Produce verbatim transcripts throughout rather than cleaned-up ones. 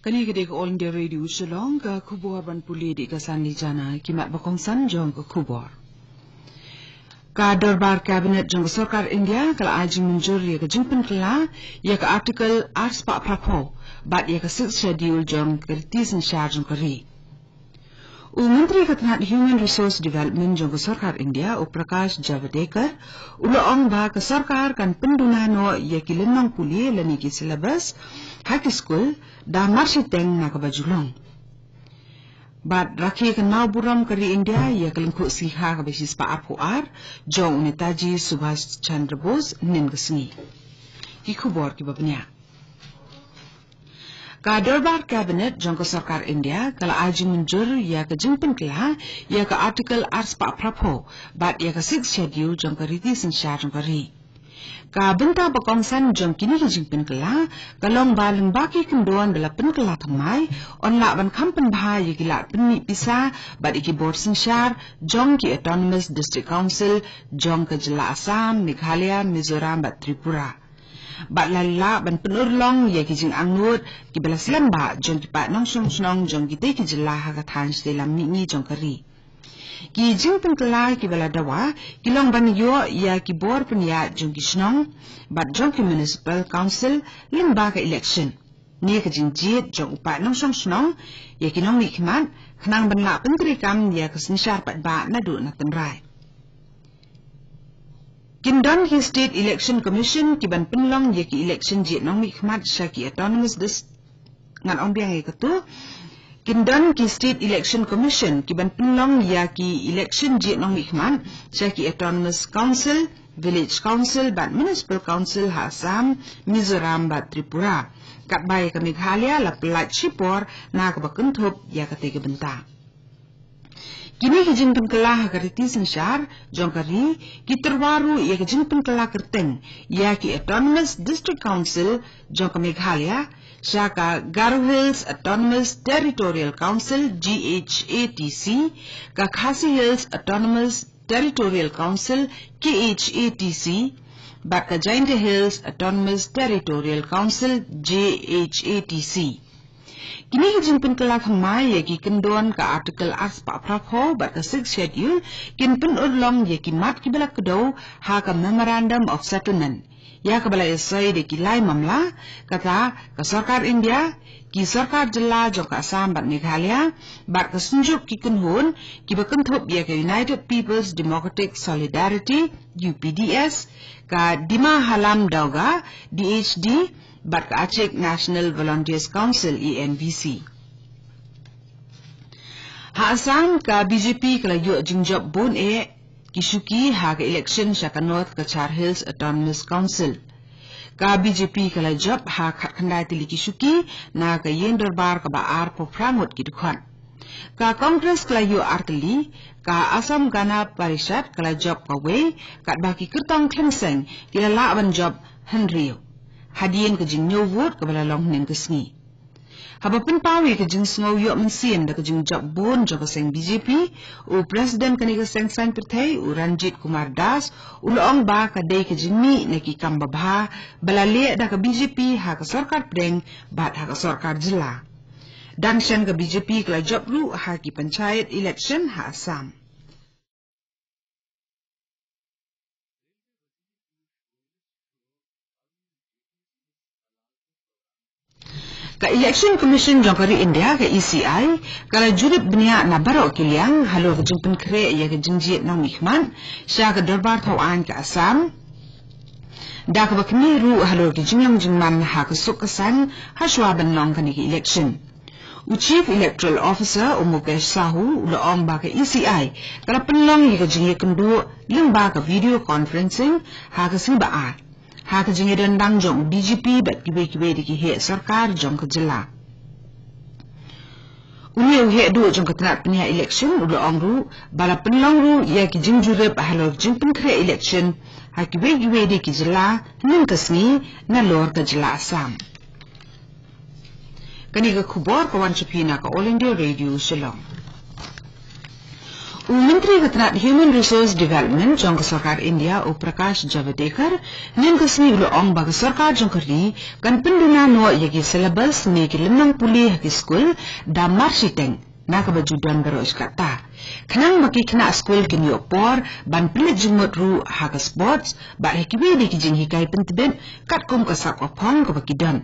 Kane ka dei ka All India Radio Shillong, ka khubor ban pule da ka Sanli Jana. Ki mat ba kongsan jong ka khubor. Ka dorbar Cabinet jong ka Sorkar India ka la ai jingmynjur ïa ka jingpynkylla ïa ka Article arspah phraphew bad ïa ka Sixth Schedule jong ka riti synshar jong ka ri. U Myntri ka tnat Human Resource Development jong ka Sorkar India, u Prakash Javadekar, u la ong ba ka sorkar kan pynduna noh ïa ki lynnong pule lane ki syllabus ha ki skul da marshiteng na kaba ju long. Bad rakhe ka nongburom ka ri India ïa ka lyngkhuh sngi kha kaba shispah arphew ar jong u Netaji Subhash Chandra Bose mynnin ka sngi. Ki khubor kiba bniah. Ka dorbar Cabinet jong ka Sorkar India ka la ai jingmynjur ïa ka jingpynkylla ïa ka Article arspah phraphew bad ïa ka Sixth Schedule jong ka riti synshar jong ka ri. Ka bynta ba kongsan jong kine ki jingpynkylla ka long ba lyngba ki kyndon ba la pynkylla thymmai, yn lah ban kham pynbha ïa ki lad pynmih pisa bad ïa ki bor synshar jong ki Autonomous District Council jong ka jylla Assam, Meghalaya, Mizoram bad Tripura. Bad la lah ban pynurlong ïa ki jingangnud kiba la slem bha jong ki paid nongshong shnong jong kitei ki jylla ha ka thaiñ shatei lam mihngi jong ka ri. Ki jingpynkylla kiba la dawa ki long ban ïoh ïa ki bor pynïaid jong ki shnong bad jong ki Municipal Council lyngba ka election. Ne ka jingjied jong u paid nongshong shnong ïa ki nongmihkhmat khnang ban lah pyntreikam ïa ka synshar paidbah naduh na tynrai. Kin don ki State Election Commission ki ban pynlong ïa ki election jied nongmihkhmat sha ki Autonomous Dis-, ngan ong biang ïa katu. Kin don ki State Election Commission ki ban pynlong ïa ki election jied nongmihkhmat sha ki Autonomous Council, Village Council bad Municipal Council ha Assam, Mizoram bad Tripura. Katba ïa ka Meghalaya la pyllait shipor na kaba kynthup ïa katei ka bynta. Kine ki jingpynkylla ha ka riti synshar jong ka ri ki tyrwa ruh ïa ka jingpynkylla kyrteng ïa ki Autonomous District Council jong ka Meghalaya sha ka Garo Hills Autonomous Territorial Council, G H A T C, ka Khasi Hills Autonomous Territorial Council, K H A T C, bad ka Jaintia Hills Autonomous Territorial Council, J H A T C. Kine ki jingpynkylla thymmai ïa ki kyndon ka Article arspah phraphew bad ka Sixth Schedule kin pynurlong ïa ki mat kiba la kdew ha ka Memorandum of Settlement ïa kaba la ïasoi da ki lai mamla, kata ka Sorkar India, ki sorkar jylla jong ka Assam bad Meghalaya, bad ka Synjuk ki Kynhun kiba kynthup ïa ka United People's Democratic Solidarity, U P D S, ka Dima Halam Dawga, D H D, bad ka Achik National Volunteers Council, A N V C. Ha Assam ka B J P ka la ïoh jingjop bun eh ki shuki ha ka election sha ka North Cachar Hills Autonomous Council. Ka B J P ka la jop ha khatkhyndai tylli ki shuki na ka ïing dorbar kaba arphew phra ngut ki dkhot. Ka Congress ka la ïoh ar tylli, ka Assam Gana Parishad ka la jop kawei, katba ki kyrtong khlem seng ki la lah ban jop hynriew hadien ka jingñiew vote kaba la long hynnin ka sngi. Haba pynpaw ïa ka jingsngew ïoh mynsiem da ka jingjop bun jong ka seng B J P, u President kane ka seng saiñ pyrthei, u Ranjit Kumar Das, u la ong ba ka dei ka jingmih na ki kam babha ba la leh da ka B J P ha ka sorkar pdeng bad ha ka sorkar jylla. Dang shen ka B J P ka la jop ruh ha ki panchayat election ha Assam. Ka Election Commission jong ka ri India, ka E C I, ka la jurip bniah na baroh ki liang halor ka jingpynkhreh ïa ka jingjied nongmihkhmat sha ka dorbar thaw aiñ ka Assam, da kaba khmih ruh halor ki jinglong jingman ha ka suk ka saiñ hashwa ban long kane ka election. U Chief Electoral Officer, u Mukesh Sahu, u la ong ba ka E C I ka la pynlong ïa ka jingïakynduh lyngba ka video conferencing ha ka sngi ba ar, ha ka jingïadon lang jong u D G P bad kiwei kiwei de ki heh sorkar jong ka jylla. Une u heh duh jong ka tnat pynïaid election u la ong ruh ba la pynlong ruh ïa ki jingjurip halor jingpynkhreh election ha kiwei kiwei de ki jylla hynnin ka sngi nalor ka jylla Assam. Kane ka khubor ka wan sha phi na ka All India Radio Shillong. U Myntri ka tnat Human Resource Development jong ka sorkar India, u Prakash Javadekar, hynnin ka sngi u la ong ba ka sorkar jong ka ri kan pynduna noh ïa ki syllabus ne ki lynnong pule ha ki skul da marshiteng, na kaba ju don baroh shi katta, khnang ba ki khynnah skul kin ïoh por ban pynleit jingmut ruh ha ka sports bad ha kiwei de ki jinghikai pyntbit katkum ka sap ka phong kaba ki don.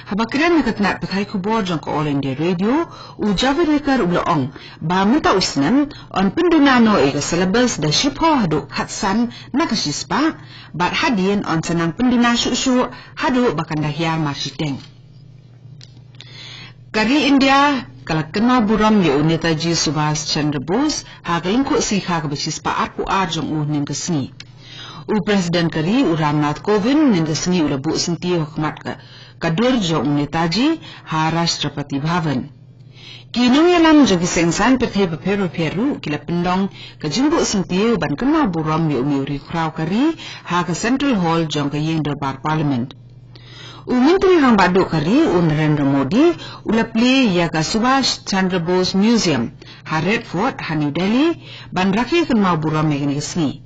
Haba kren ha ka tnat pathai khubor jong ka All India Radio, u Javadekar u la ong ba mynta u snem yn pynduna noh ïa ka syllabus da shiphew haduh khatsan na ka shispah, bad hadien yn sa nang pynduna shuh shuh haduh ba kan da hiar marshiteng. Ka ri India ka la kynmaw burom ïa u Netaji Subhas Chandra Bose ha ka lyngkhuh sngi kha kaba shispah arphew ar jong u hynnin ka sngi. U President ka ri, u Ramnath Kovind, hynnin ka sngi u la buh syntiew ha khmat ka, ka dur jong u Netaji ha Rashtrapati Bhavan. Ki nongïalam jong ki seng saiñ pyrthei bapher bapher ruh ki la pynlong ka jingbuh syntiew ban kynmaw burom ïa u mei u riewkhraw ka ri ha ka Central Hall jong ka ïing dorbar Parliament. U Myntri Rangbah Duh ka ri, u Narendra Modi, u la plie ïa ka Subhash Chandra Bose Museum ha Red Fort ha New Delhi ban rakhe kynmaw burom ïa kane ka sngi.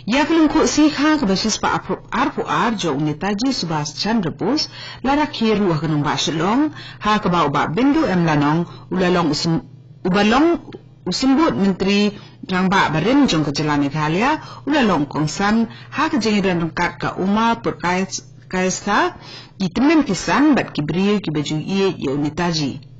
Ïa ka lyngkhuh sngi kha kaba shispah arphew ar jong u Netaji Subhas Chandra Bose la rakhe ruh ha ka nongbah Shillong, ha kaba u Bah Bindu M Lanong u la long u sym-, uba long u Symbud Myntri Rangbah barim jong ka jylla Meghalaya u la long u kongsan ha ka jingïadon ryngkat ka Uma Purkayastha, ki tymmen ki san bad ki briew kiba ju ïeit ïa u Netaji.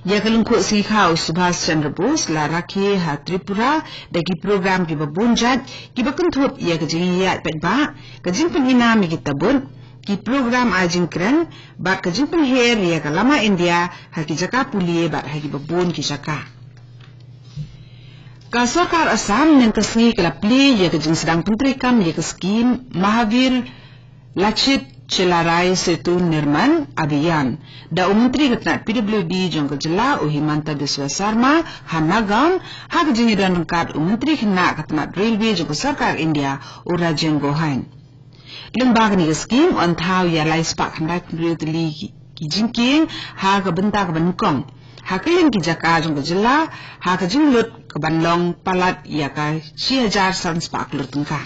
Ïa ka lyngkhuh sngi kha u Subhas Chandra Bose la rakhe ha Tripura da ki program kiba bun jait kiba kynthup ïa ka jingïaid paidbah, ka jingpynïaid ïa ki tabut, ki program ai jingkren bad ka jingpynher ïa ka lama India ha ki jaka pule bad ha kiba bun ki jaka. Ka sorkar Assam hynnin ka sngi ka la plie ïa ka jingsdang pyntreikam ïa ka skim Mahavir Lachit Chelarai Setu Nirman Abhiyan da u Myntri ka tnat P W D jong ka jylla, u Himanta Biswa Sarma, ha Nagaon ha ka jingïadon ryngkat u Myntri khynnah ka tnat Railway jong ka sorkar India, u Rajen Gohain. Lyngba kane ka skim yn thaw ïa lai spah khyndai phew hynriew tylli ki, ki jingkieng ha ka bynta kaba nyngkong ha kylleng ki jaka jong ka jylla, ha ka jinglut kaban long palat ïa ka shi hajar san spah klur tyngka.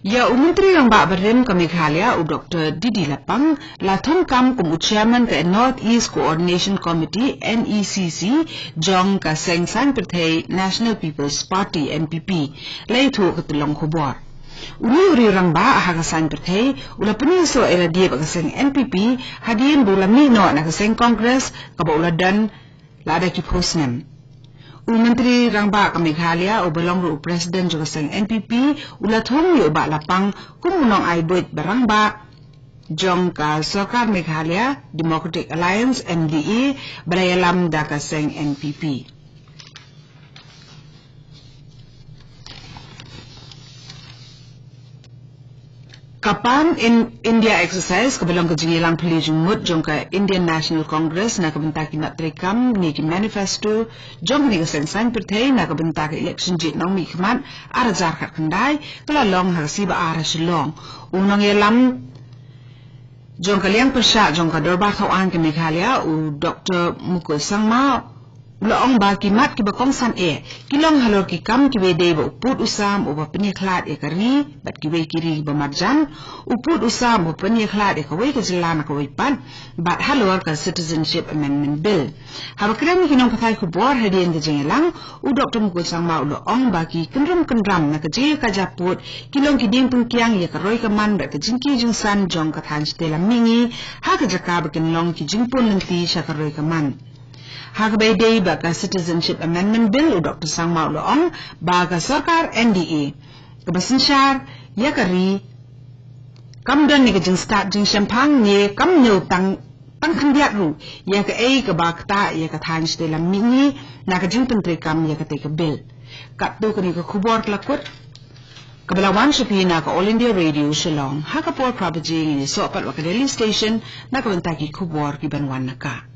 Ïa u Myntri Rangbah barim ka Meghalaya, u Doktor D D Lapang, la thung kam kum u Chairman ka North East Coordination Committee, N E C C, jong ka seng saiñ pyrthei National People's Party, N P P, la ïathuh ka tyllong khubor. Une u riew rangbah ha ka saiñ pyrthei u la pynïasoh ïa lade bad ka seng N P P hadien ba u la mih noh na ka seng Congress kaba u la don lada ki phew snem. U Myntri Rangbah ka Meghalaya uba long ruh u President jong ka seng N P P u la thung ïa u Bah Lapang kum u nongai buit ba rangbah jong ka sorkar Meghalaya Democratic Alliance, M D A, ba la ïalam da ka seng N P P. Ka Pan In-, India Exercise, kaba long ka jingïalang phylliew jingmut jong ka Indian National Congress na ka bynta ki mat treikam ne ki manifesto jong kane ka seng saiñ pyrthei na ka bynta ka election jied nongmihkhmat ar hajar khatkhyndai, ka la long ha ka sngi Baar ha Shillong. U nongïalam jong ka liang pyrshah jong ka Dorbar Thawaiñ ka Meghalaya, u Doktor Mukul Sangma, u la ong ba ki mat kiba kongsan eh ki long halor ki kam kiba dei ba u pud u sam uba pynïakhlad ïa ka ri bad kiwei ki ri ba marjan, u pud u sam uba pynïakhlad ïa kawei ka jylla na kawei pat, bad halor ka Citizenship Amendment Bill. Haba kren ïa ki nongpathai khubor hadien ka jingïalang, u Doktor Mukul Sangma u la ong ba ki kynrum kynram na ka jingïakajia pud ki long ki dieng pynkiang ïa ka roi ka man bad ka jingkiew jingsan jong ka thaiñ shatei lam mihngi ha ka jaka ba kin long ki jingpun lynti sha ka roi ka man. Ha kaba ïadei bad ka Citizenship Amendment Bill, u Doktor Sangma u la ong ba ka sorkar N D A kaba synshar ïa ka ri kam don ïa ka jingstad jingshemphang ne kam ñiew tang, tang khyndiat ruh ïa kaei kaba ktah ïa ka thaiñ shatei lam mihngi na ka jingpyntreikam ïa katei ka bill. Katto katne ka khubor ka la kut kaba la wan sha phi na ka All India Radio Shillong. Ha ka por phra baje ngin ïasoh pat bad ka Delhi Station na ka bynta ki khubor kiban wan na ka.